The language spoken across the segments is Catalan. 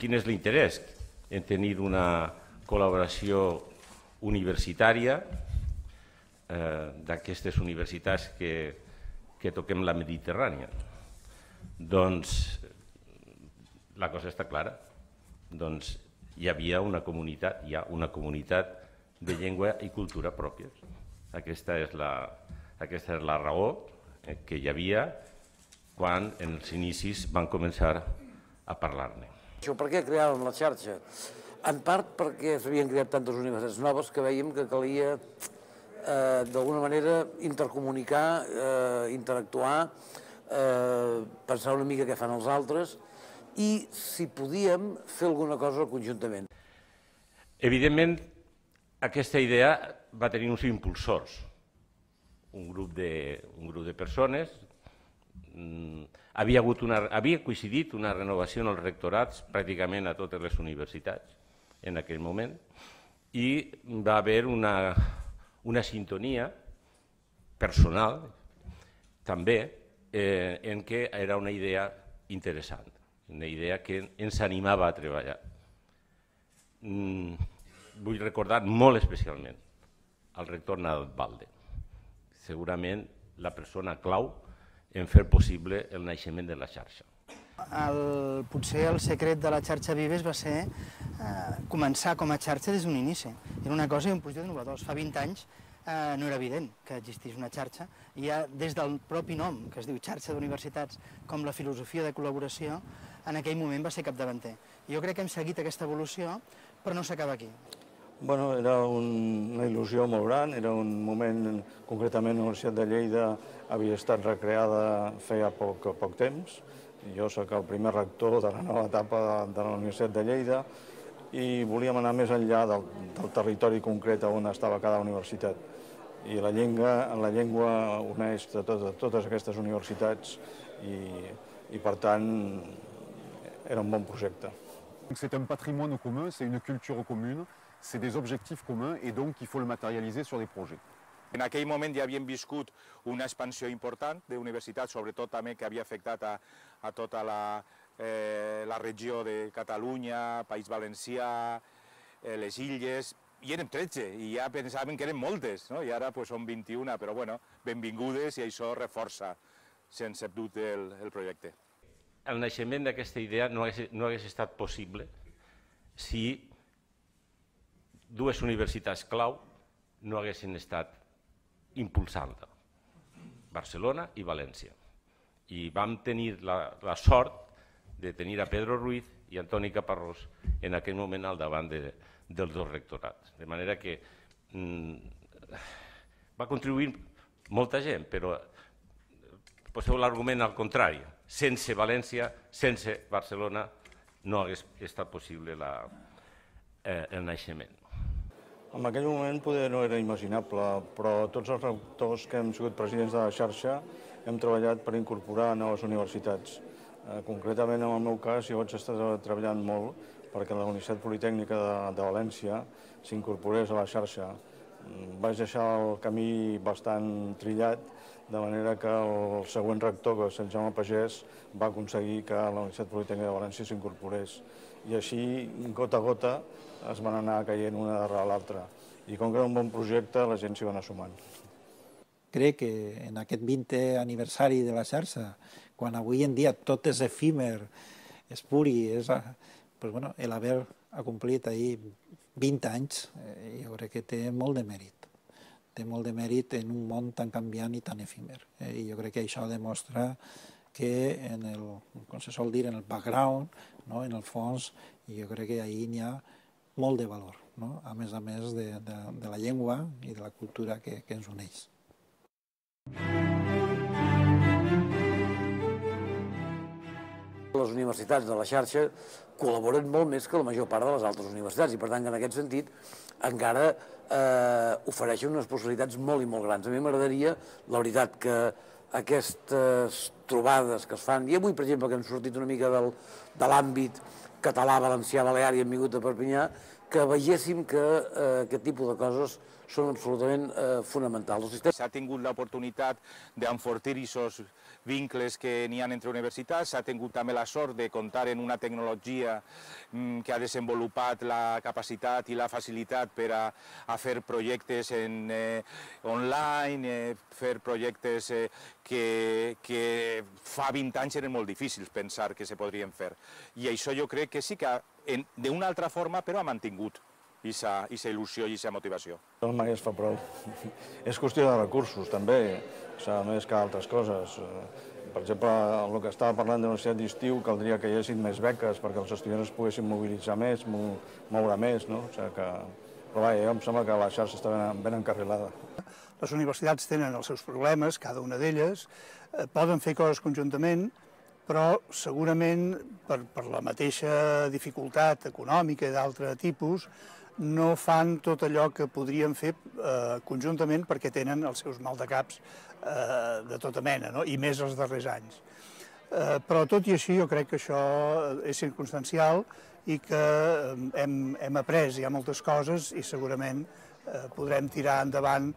quin és l'interès en tenir una col·laboració universitària d'aquestes universitats que toquem la Mediterrània? Doncs la cosa està clara. Doncs hi havia una comunitat, hi ha una comunitat de llengua i cultura pròpies. Aquesta és la raó que hi havia quan en els inicis van començar a parlar-ne. Per què creàvem la xarxa? En part perquè s'havien creat tantes universitats noves que veiem que calia d'alguna manera intercomunicar, interactuar, pensar una mica què fan els altres i, si podíem, fer alguna cosa conjuntament. Evidentment, aquesta idea va tenir uns impulsors, un grup de persones. Havia coincidit una renovació en els rectorats pràcticament a totes les universitats en aquell moment i va haver una sintonia personal també en què era una idea interessant, una idea que ens animava a treballar. Vull recordar molt especialment al rector Nadalbalde, segurament la persona clau en fer possible el naixement de la xarxa. Potser el secret de la xarxa Vives va ser començar com a xarxa des d'un inici. Era una cosa i un projecte innovador. Fa 20 anys no era evident que existís una xarxa i ja des del propi nom, que es diu xarxa d'universitats, com la filosofia de col·laboració, en aquell moment va ser capdavanter. Jo crec que hem seguit aquesta evolució, però no s'acaba aquí. Bueno, era una il·lusió molt gran, era un moment, concretament la Universitat de Lleida havia estat recreada feia poc temps. Jo soc el primer rector de la nova etapa de la Universitat de Lleida i volíem anar més enllà del territori concret on estava cada universitat. I la llengua uneix totes aquestes universitats i per tant era un bon projecte. C'est un patrimoine commun, c'est une culture commune, c'est des objectifs communs et donc il faut le matérialiser sur des projets. En aquell moment ja havíem viscut una expansió important d'universitats, sobretot també que havia afectat a tota la regió de Catalunya, País Valencià, les Illes, i érem 13, i ja pensàvem que eren moltes, i ara són 21, però benvingudes i això reforça, sense dubte, el projecte. El naixement d'aquesta idea no hagués estat possible si dues universitats clau no haguessin estat impulsant-la, Barcelona i València. I vam tenir la sort de tenir a Pedro Ruiz i Antoni Caparrós en aquell moment al davant dels dos rectorats. De manera que va contribuir molta gent, però poseu l'argument al contrari. Sense València, sense Barcelona, no hagués estat possible el naixement. En aquell moment poder no era imaginable, però tots els rectors que hem sigut presidents de la xarxa hem treballat per incorporar noves universitats. Concretament, en el meu cas, jo vaig estar treballant molt perquè la Universitat Politècnica de València s'incorporés a la xarxa. Vaig deixar el camí bastant trillat, de manera que el següent rector, que és Sant Jaume Pagès, va aconseguir que la Universitat Politècnica de València s'incorporés. I així, gota a gota, es van anar caient una darrere l'altra. I com que era un bon projecte, la gent s'hi va anar sumant. Crec que en aquest 20è aniversari de la xarxa, quan avui en dia tot és efímer, és puri, l'haver acomplit ahir 20 anys, jo crec que té molt de mèrit. Té molt de mèrit en un món tan canviant i tan efímer. I jo crec que això demostra que, com se sol dir, en el background, en el fons, jo crec que ahir n'hi ha molt de valor, a més de la llengua i de la cultura que ens uneix. Les universitats de la xarxa col·laboren molt més que la major part de les altres universitats i, per tant, en aquest sentit, encara ofereixen unes possibilitats molt i molt grans. A mi m'agradaria, la veritat, que aquestes trobades que es fan, i avui, per exemple, que hem sortit una mica de l'àmbit català, valencià, balear i hem vingut a Perpinyà, que veiéssim que aquest tipus de coses són absolutament fonamentals. S'ha tingut l'oportunitat d'enfortir aquests vincles que n'hi ha entre universitats, s'ha tingut també la sort de comptar en una tecnologia que ha desenvolupat la capacitat i la facilitat per a fer projectes online, fer projectes que fa 20 anys eren molt difícils pensar que se podrien fer. I això jo crec que sí que d'una altra forma però ha mantingut aquesta il·lusió i aquesta motivació. No mai es fa prou. És qüestió de recursos, també, més que altres coses. Per exemple, el que estava parlant de la universitat d'estiu, caldria que hi haguessin més beques perquè els estudiants es poguessin mobilitzar més, moure més, no? Però vaja, em sembla que la xarxa està ben encarrilada. Les universitats tenen els seus problemes, cada una d'elles, poden fer coses conjuntament, però segurament per la mateixa dificultat econòmica i d'altre tipus no fan tot allò que podrien fer conjuntament perquè tenen els seus maldecaps de tota mena, i més els darrers anys. Però tot i així jo crec que això és circumstancial i que hem après ja moltes coses i segurament podrem tirar endavant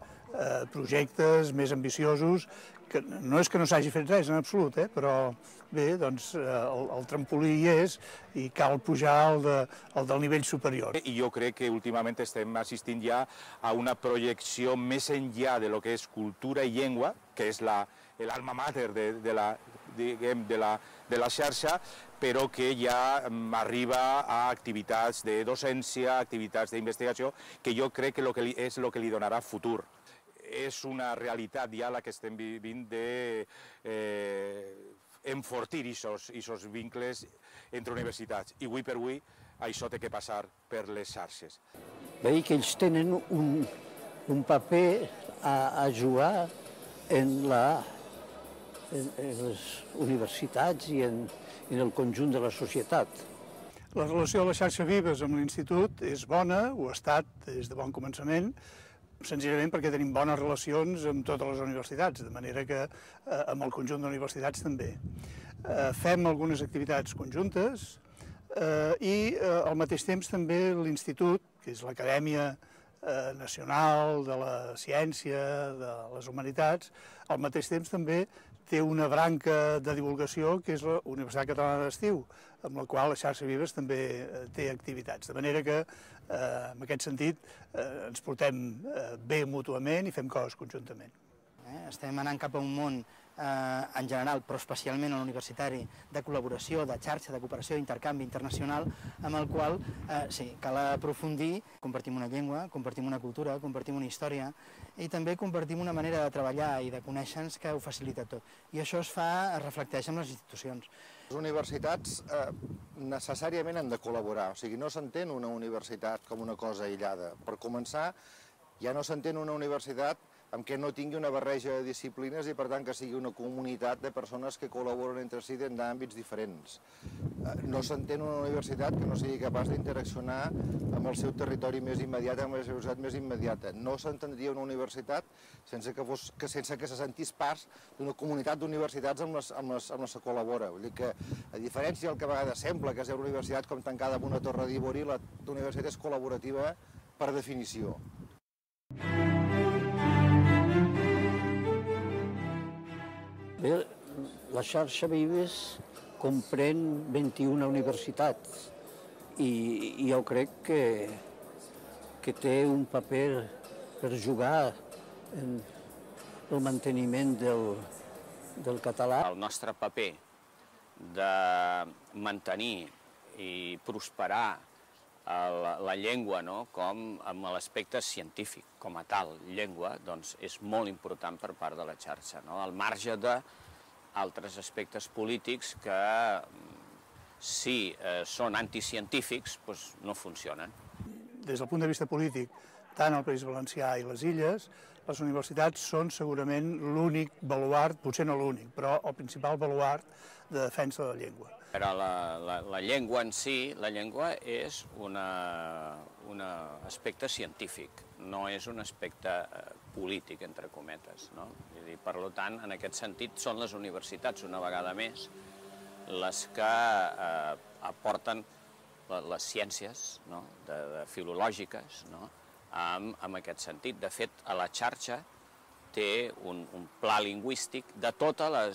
projectes més ambiciosos, que no és que no s'hagi fet res en absolut, però bé, doncs el trampolí hi és i cal pujar al del nivell superior. I jo crec que últimament estem assistint ja a una projecció més enllà de lo que és cultura i llengua, que és l'alma mater de la xarxa, però que ja arriba a activitats de docència, activitats d'investigació, que jo crec que és el que li donarà futur. És una realitat ja la que estem vivint d'enfortir aquests vincles entre universitats. I avui per avui això té que passar per les xarxes. Veig que ells tenen un paper a jugar en les universitats i en el conjunt de la societat. La relació de la xarxa Vives amb l'institut és bona, ho ha estat des de bon començament, senzillament perquè tenim bones relacions amb totes les universitats, de manera que amb el conjunt d'universitats també. Fem algunes activitats conjuntes i al mateix temps també l'institut, que és l'Acadèmia Nacional de la Ciència, de les Humanitats, al mateix temps també té una branca de divulgació que és la Universitat Catalana d'Estiu, amb la qual la xarxa Vives també té activitats. De manera que, en aquest sentit, ens portem bé mútuament i fem coses conjuntament. Estem anant cap a un món en general, però especialment a l'universitari, de col·laboració, de xarxa, de cooperació, d'intercanvi internacional, amb el qual sí, cal aprofundir, compartim una llengua, compartim una cultura, compartim una història i també compartim una manera de treballar i de conèixer-nos que ho facilita tot. I això es reflecteix en les institucions. Les universitats necessàriament han de col·laborar, o sigui, no s'entén una universitat com una cosa aïllada. Per començar, ja no s'entén una universitat amb què no tingui una barreja de disciplines i, per tant, que sigui una comunitat de persones que col·laboren entre si en àmbits diferents. No s'entén una universitat que no sigui capaç d'interaccionar amb el seu territori més immediat, amb la seva societat més immediata. No s'entendria una universitat sense que se sentís part d'una comunitat d'universitats amb les que col·labora. Vull dir que, a diferència del que a vegades sembla, que és una universitat com tancada en una torre d'ivori, la universitat és col·laborativa per definició. Bé, la xarxa Vives comprèn 21 universitats i jo crec que té un paper per jugar en el manteniment del català. El nostre paper de mantenir i prosperar la llengua, com amb l'aspecte científic, com a tal, llengua, doncs és molt important per part de la xarxa, al marge d'altres aspectes polítics que, si són anticientífics, no funcionen. Des del punt de vista polític, tant el País Valencià i les Illes, les universitats són segurament l'únic baluard, potser no l'únic, però el principal baluard de defensa de la llengua. Però la llengua en si, la llengua és un aspecte científic, no és un aspecte polític, entre cometes. Per tant, en aquest sentit, són les universitats, una vegada més, les que aporten les ciències filològiques en aquest sentit. De fet, a la xarxa té un pla lingüístic de tota la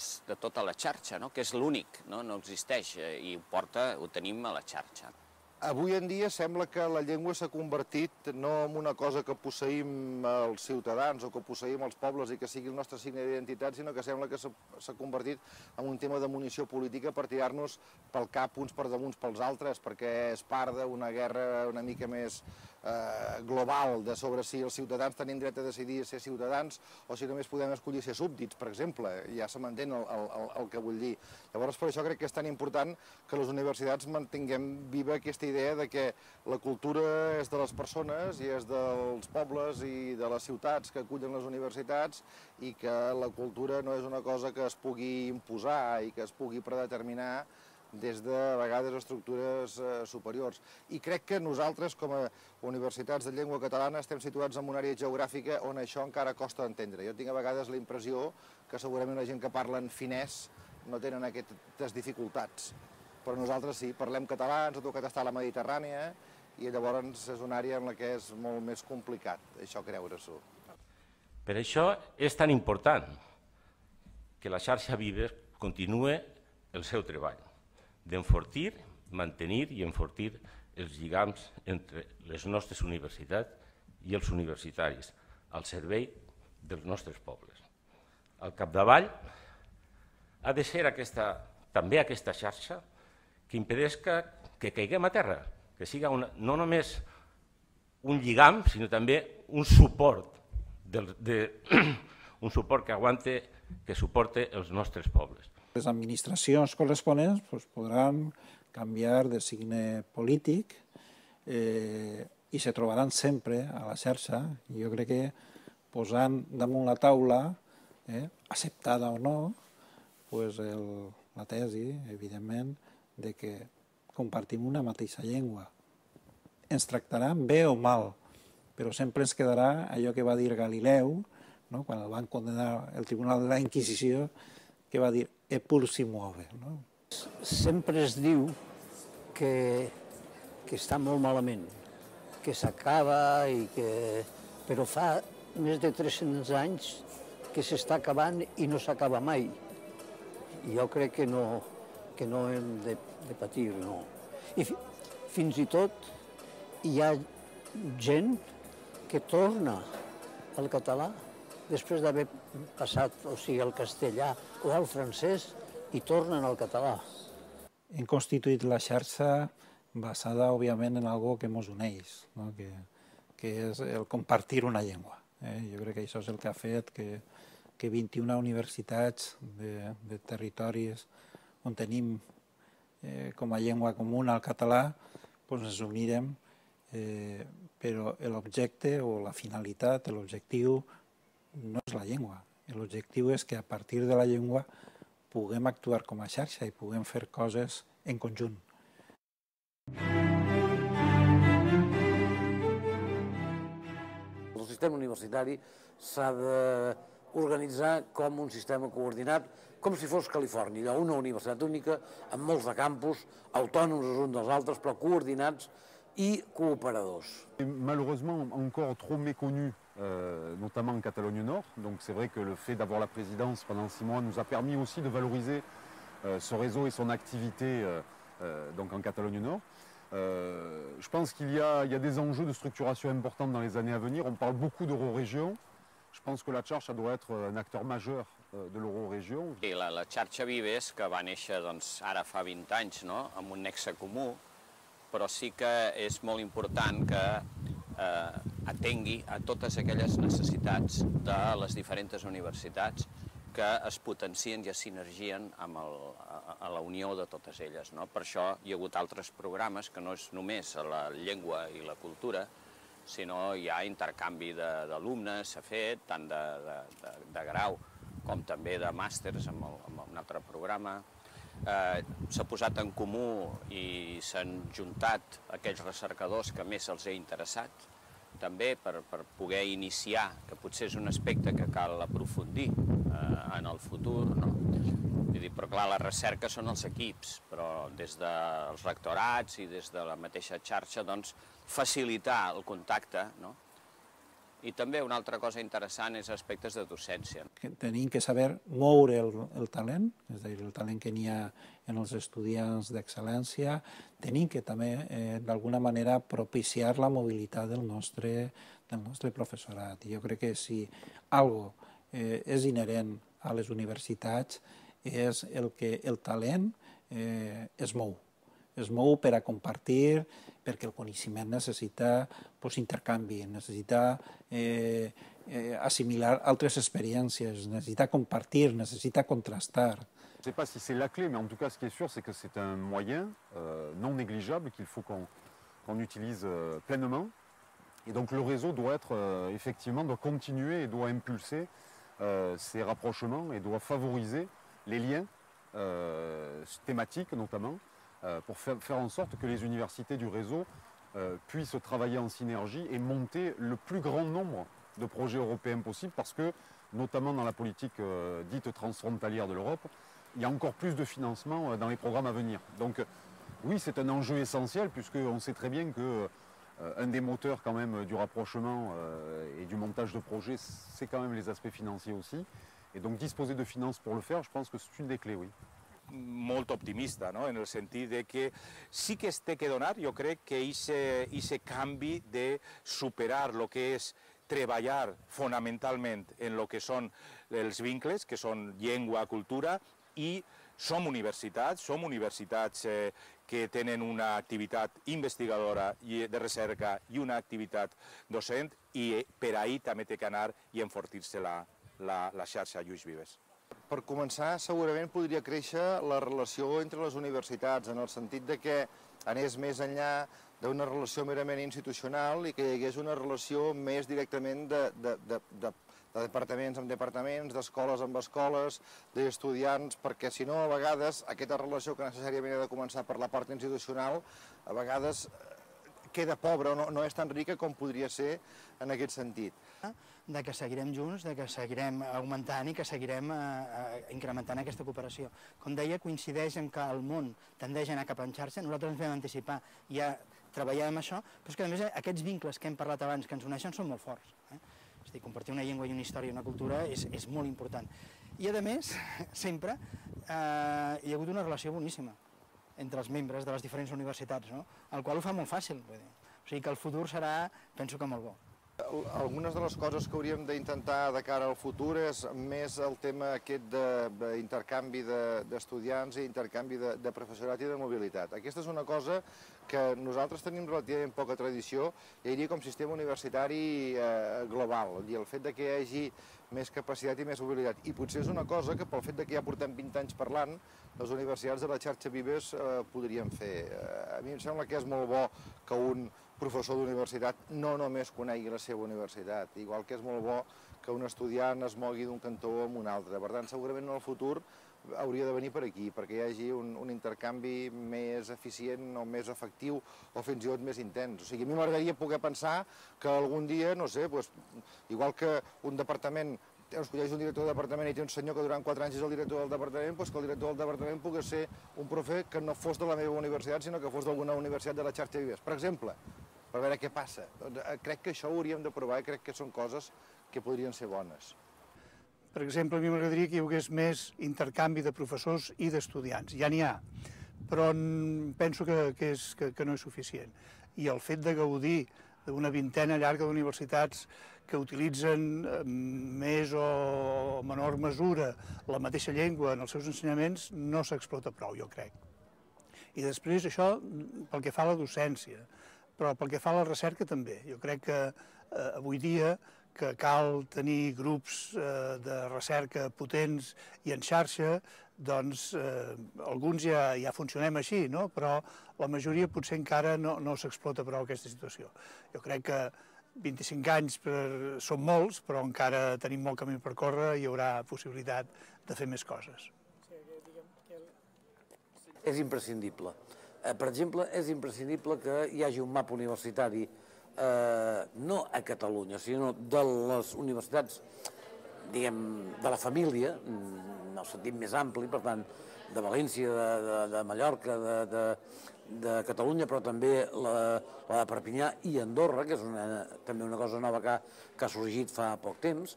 xarxa, que és l'únic, no existeix, i ho tenim a la xarxa. Avui en dia sembla que la llengua s'ha convertit no en una cosa que posseïm els ciutadans o que posseïm els pobles i que sigui el nostre signe d'identitat, sinó que sembla que s'ha convertit en un tema de munició política per tirar-nos pel cap uns per damunt pels altres, perquè és part d'una guerra una mica més global de sobre si els ciutadans tenim dret a decidir ser ciutadans o si només podem escollir ser súbdits, per exemple. Ja se m'entén el que vull dir. Llavors, per això crec que és tan important que les universitats mantinguem viva aquesta idea de que la cultura és de les persones i és dels pobles i de les ciutats que acullen les universitats i que la cultura no és una cosa que es pugui imposar i que es pugui predeterminar des de, a vegades, estructures superiors. I crec que nosaltres, com a universitats de llengua catalana, estem situats en una àrea geogràfica on això encara costa d'entendre. Jo tinc a vegades la impressió que segurament la gent que parla en finès no tenen aquestes dificultats. Però nosaltres sí, parlem català, ens ha tocat estar a la Mediterrània i llavors és una àrea en la que és molt més complicat, això creure-s'ho. Per això és tan important que la xarxa Vives continue el seu treball d'enfortir, mantenir i enfortir els lligams entre les nostres universitats i els universitaris al servei dels nostres pobles. Al capdavall ha de ser també aquesta xarxa que impedeix que caiguem a terra, que siga no només un lligam, sinó també un suport que aguante, que suporte els nostres pobles. Les administracions corresponents podran canviar de signe polític i se trobaran sempre a la xarxa. Jo crec que posant damunt la taula, acceptada o no, la tesi, evidentment, de que compartim una mateixa llengua. Ens tractaran bé o mal, però sempre ens quedarà allò que va dir Galileu, quan el van condenar el Tribunal de la Inquisició, que va dir «e pur si muove». Sempre es diu que està molt malament, que s'acaba, però fa més de 300 anys que s'està acabant i no s'acaba mai. Jo crec que no hem de patir, no. I fins i tot hi ha gent que torna al català després d'haver passat, o sigui, al castellà o al francès, i tornen al català. Hem constituït la xarxa basada, òbviament, en algo que ens uneix, que és el compartir una llengua. Jo crec que això és el que ha fet que 21 universitats de territoris on tenim com a llengua comuna el català ens unirem, però l'objecte o la finalitat, l'objectiu, no és la llengua. L'objectiu és que a partir de la llengua puguem actuar com a xarxa i puguem fer coses en conjunt. El sistema universitari s'ha d'organitzar com un sistema coordinat, com si fos Califòrnia, una universitat única, amb molts de campus, autònoms els uns dels altres, però coordinats i cooperadors. Malheureusement, encore trop méconnu, notamment en Catalogne Nord. Donc c'est vrai que le fait d'avoir la présidence pendant 6 mois nous a permis aussi de valoriser ce réseau et son activité donc en Catalogne Nord. Je pense qu'il y a des enjeux de structuration importants dans les années à venir. On parle beaucoup d'eurorégion. Je pense que la xarxa doit être un acteur majeur de l'eurorégion. La xarxa Vives, que va néixer ara fa 20 anys, amb un nexe comú, però sí que és molt important que atengui a totes aquelles necessitats de les diferents universitats que es potencien i es sinergien a la unió de totes elles. Per això hi ha hagut altres programes que no és només la llengua i la cultura, sinó hi ha intercanvi d'alumnes, s'ha fet, tant de grau com també de màsters amb un altre programa. S'ha posat en comú i s'han juntat aquells recercadors que més els ha interessat, també per poder iniciar, que potser és un aspecte que cal aprofundir en el futur. Però clar, la recerca són els equips, però des dels rectorats i des de la mateixa xarxa facilitar el contacte I també una altra cosa interessant és aspectes de docència. Tenim que saber moure el talent, és a dir, el talent que n'hi ha en els estudiants d'excel·lència. Tenim que també, d'alguna manera, propiciar la mobilitat del nostre professorat. Jo crec que si algo és inherent a les universitats és el que el talent es mou. Es mou per a compartir, perquè el coneixement necessita intercanvi, necessita assimilar altres expériences, necessita compartir, necessita contrastar. Je ne sais pas si c'est la clé, mais en tout cas, ce qui est sûr, c'est que c'est un moyen non négligeable qu'il faut qu'on utilise pleinement. Et donc le réseau doit être, effectivement, doit continuer et doit impulser ces rapprochements et doit favoriser les liens thématiques notamment, pour faire en sorte que les universités du réseau puissent travailler en synergie et monter le plus grand nombre de projets européens possible, parce que, notamment dans la politique dite transfrontalière de l'Europe, il y a encore plus de financement dans les programmes à venir. Donc oui, c'est un enjeu essentiel, puisqu'on sait très bien que un des moteurs quand même du rapprochement et du montage de projets, c'est quand même les aspects financiers aussi. Et donc disposer de finances pour le faire, je pense que c'est une des clés, oui. Molt optimista, no? En el sentit de que sí que es té que donar, jo crec que aquest canvi de superar el que és treballar fonamentalment en el que són els vincles, que són llengua, cultura, i som universitats que tenen una activitat investigadora i de recerca i una activitat docent, i per ahir també té que anar i enfortir-se la xarxa Lluís Vives. Per començar, segurament podria créixer la relació entre les universitats, en el sentit de que anés més enllà d'una relació merament institucional i que hi hagués una relació més directament de departaments amb departaments, d'escoles amb escoles, d'estudiants, perquè si no, a vegades, aquesta relació que necessàriament ha de començar per la part institucional, a vegades queda pobra, no és tan rica com podria ser en aquest sentit. De que seguirem junts, de que seguirem augmentant i que seguirem incrementant aquesta cooperació. Com deia, coincideix en que el món tendeix a anar cap en xarxa, nosaltres ens vam anticipar i ja treballàvem això, però és que a més aquests vincles que hem parlat abans, que ens uneixen, són molt forts. És a dir, compartir una llengua i una història i una cultura és molt important. I a més, sempre hi ha hagut una relació boníssima entre els membres de les diferents universitats, el qual ho fa molt fàcil. O sigui que el futur serà, penso que molt bo. Algunes de les coses que hauríem d'intentar de cara al futur és més el tema aquest d'intercanvi d'estudiants i intercanvi de professorat i de mobilitat. Aquesta és una cosa que nosaltres tenim relativament poca tradició, ja diria com sistema universitari global, i el fet que hi hagi més capacitat i més mobilitat. I potser és una cosa que pel fet que ja portem 20 anys parlant, les universitats de la xarxa Vives podrien fer. A mi em sembla que és molt bo que un professor d'universitat no només conegui la seva universitat, igual que és molt bo que un estudiant es mogui d'un cantó a un altre. Per tant, segurament en el futur hauria de venir per aquí, perquè hi hagi un intercanvi més eficient o més efectiu o fins i tot més intens. O sigui, a mi m'agradaria poder pensar que algun dia, no sé, igual que un departament escolleix un director de departament i té un senyor que durant 4 anys és el director del departament, doncs que el director del departament pugui ser un profe que no fos de la meva universitat, sinó que fos d'alguna universitat de la xarxa Vives, per exemple, per veure què passa. Crec que això ho hauríem de provar i crec que són coses que podrien ser bones. Per exemple, a mi m'agradaria que hi hagués més intercanvi de professors i d'estudiants. Ja n'hi ha, però penso que no és suficient. I el fet de gaudir d'una vintena llarga d'universitats que utilitzen més o menor mesura la mateixa llengua en els seus ensenyaments no s'explota prou, jo crec. I després això pel que fa a la docència, però pel que fa a la recerca també. Jo crec que avui dia que cal tenir grups de recerca potents i en xarxa, doncs alguns ja funcionem així, però la majoria potser encara no s'explota prou aquesta situació. Jo crec que 25 anys són molts, però encara tenim molt camí per córrer i hi haurà possibilitat de fer més coses. És imprescindible. Per exemple, és imprescindible que hi hagi un mapa universitari no a Catalunya, sinó de les universitats diguem, de la família, en el sentit més ampli, per tant, de València, de Mallorca, de Catalunya, però també la de Perpinyà i Andorra, que és també una cosa nova que ha sorgit fa poc temps,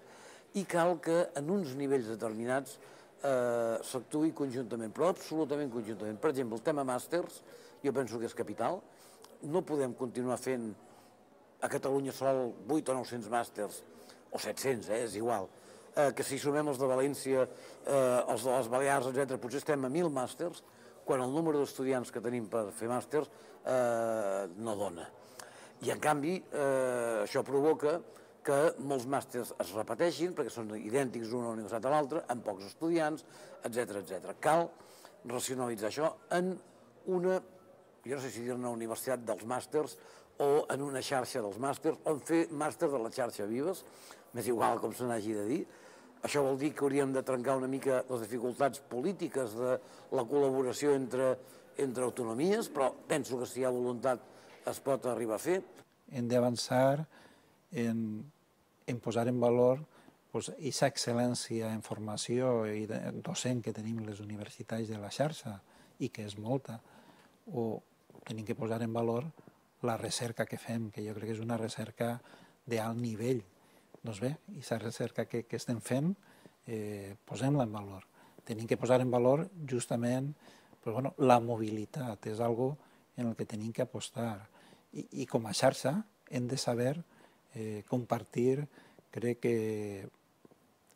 i cal que en uns nivells determinats s'actuï conjuntament, però absolutament conjuntament. Per exemple, el tema màsters, jo penso que és capital. No podem continuar fent a Catalunya sol 8 o 900 màsters, o 700, és igual, que si sumem els de València, els de les Balears, etc., potser estem a 1.000 màsters, quan el número d'estudiants que tenim per fer màsters no dona. I, en canvi, això provoca que molts màsters es repeteixin, perquè són idèntics d'una universitat a l'altra, amb pocs estudiants, etc. Cal racionalitzar això en una, jo no sé si dir-ne universitat dels màsters, o en una xarxa dels màsters, o en fer màsters de la xarxa Vives, m'és igual com se n'hagi de dir. Això vol dir que hauríem de trencar una mica les dificultats polítiques de la col·laboració entre autonomies, però penso que si hi ha voluntat es pot arribar a fer. Hem d'avançar en posar en valor aquesta excel·lència en formació i docent que tenim les universitats de la xarxa, i que és molta, o tenim que posar en valor la recerca que fem, que jo crec que és una recerca d'alt nivell. Doncs bé, aquesta recerca que estem fent, posem-la en valor. Tenim que posar en valor justament la mobilitat, és algo en el que tenim que apostar. I com a xarxa hem de saber compartir, crec que,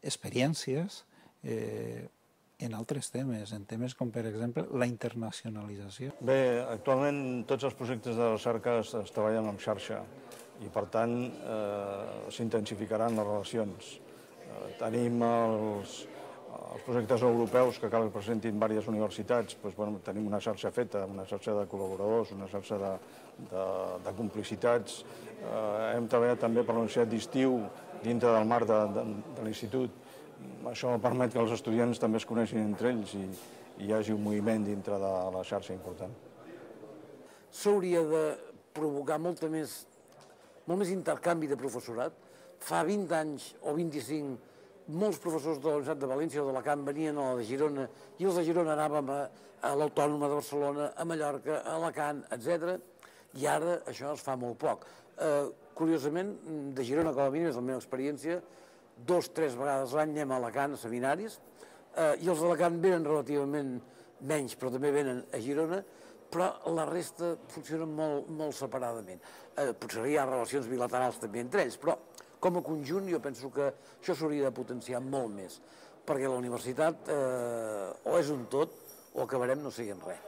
experiències en altres temes, en temes com, per exemple, la internacionalització. Bé, actualment tots els projectes de recerca es treballen en xarxa i, per tant, s'intensificaran les relacions. Tenim els projectes europeus que cal que presentin diverses universitats, tenim una xarxa feta, una xarxa de col·laboradors, una xarxa de complicitats. Hem treballat també per la Universitat d'Estiu dintre del marc de l'institut. Això permet que els estudiants també es coneixin entre ells i hi hagi un moviment dintre de la xarxa important. S'hauria de provocar molt més intercanvi de professorat. Fa 20 anys o 25, molts professors de la Universitat de València o d'Alacant venien a la de Girona, i els de Girona anàvem a l'Autònoma de Barcelona, a Mallorca, a Alacant, etc. I ara això es fa molt poc. Curiosament, de Girona, com a mínim, és la meva experiència, 2 o 3 vegades l'any anem a Alacant a seminaris, i els d'Alacant venen relativament menys, però també venen a Girona, però la resta funcionen molt separadament. Potser hi ha relacions bilaterals també entre ells, però com a conjunt jo penso que això s'hauria de potenciar molt més, perquè la universitat o és un tot o acabarem no sent res.